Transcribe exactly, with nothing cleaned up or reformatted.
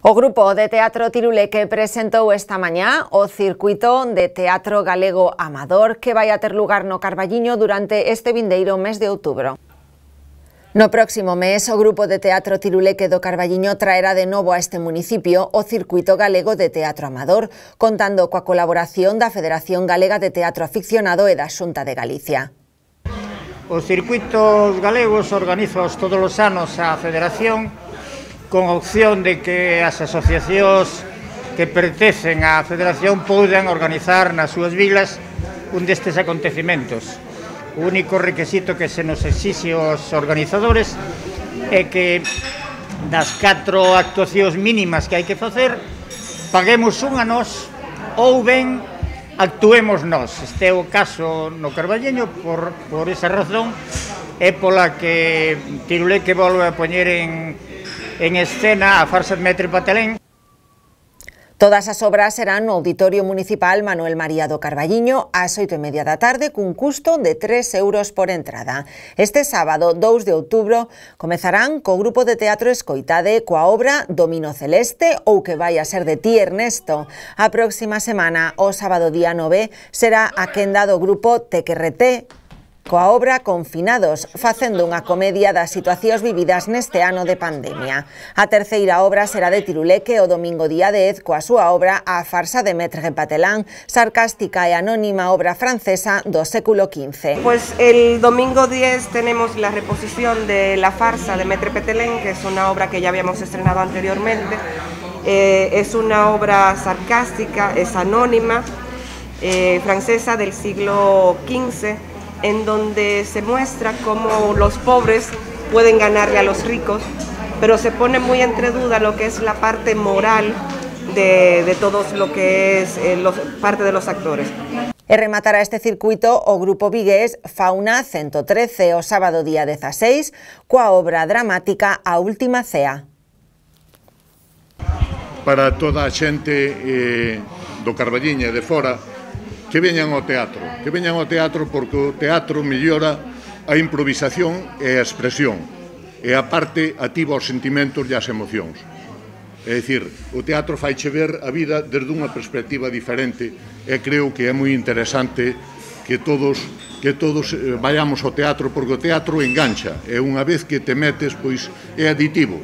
O grupo de teatro Tiruleque presentou esta mañá o circuito de teatro galego amador que vai a ter lugar no Carballiño durante este vindeiro mes de outubro. No próximo mes, o grupo de teatro Tiruleque do Carballiño traerá de novo a este municipio o circuito galego de teatro amador, contando coa colaboración da Federación Galega de Teatro Aficionado e da Xunta de Galicia. Os circuitos galegos organizaos todos os anos a Federación con opción de que as asociacións que pertencen á Federación poden organizar nas súas vilas un destes acontecementos. O único requisito que se nos exixe aos organizadores é que das catro actuacións mínimas que hai que facer, paguemos unha nós ou ben actuemos nós. Este é o caso no Carballiño, por, por esa razón é pola que Tiruleque volve a poñer en, en escena a farsa de Mestre Patelén. Todas as obras serán no Auditorio Municipal Manuel María do Carballiño ás oito e media da tarde cun custo de tres euros por entrada. Este sábado, dous de outubro, comezarán co grupo de teatro Escoitade coa obra Domino Celeste ou que vai a ser de ti, Ernesto. A próxima semana, o sábado día nove, será a quenda do grupo Tequerreté coa obra Confinados, facendo unha comedia das situacións vividas neste ano de pandemia. A terceira obra será de Tiruleque o domingo día dez coa súa obra A farsa de Mestre Patelén, sarcástica e anónima obra francesa do século quince. Pues el domingo diez tenemos la reposición de La farsa de Mestre Patelén, que es una obra que ya habíamos estrenado anteriormente. Eh, es una obra sarcástica, es anónima, eh, francesa del siglo quince, en donde se muestra cómo los pobres pueden ganarle a los ricos, pero se pone muy entre duda lo que es la parte moral de, de todo lo que es eh, los, parte de los actores. E rematará este circuito o grupo vigués Fauna ciento trece o sábado día dezaseis coa obra dramática A última cea. Para toda a xente eh, do Carballiño e de fora, que veñan ao teatro, que veñan ao teatro porque o teatro mellora a improvisación e a expresión, e a parte ativa os sentimentos e as emocións. É dicir, o teatro faiche ver a vida desde unha perspectiva diferente e creo que é moi interesante que todos que todos vayamos ao teatro porque o teatro engancha e unha vez que te metes, pois é aditivo.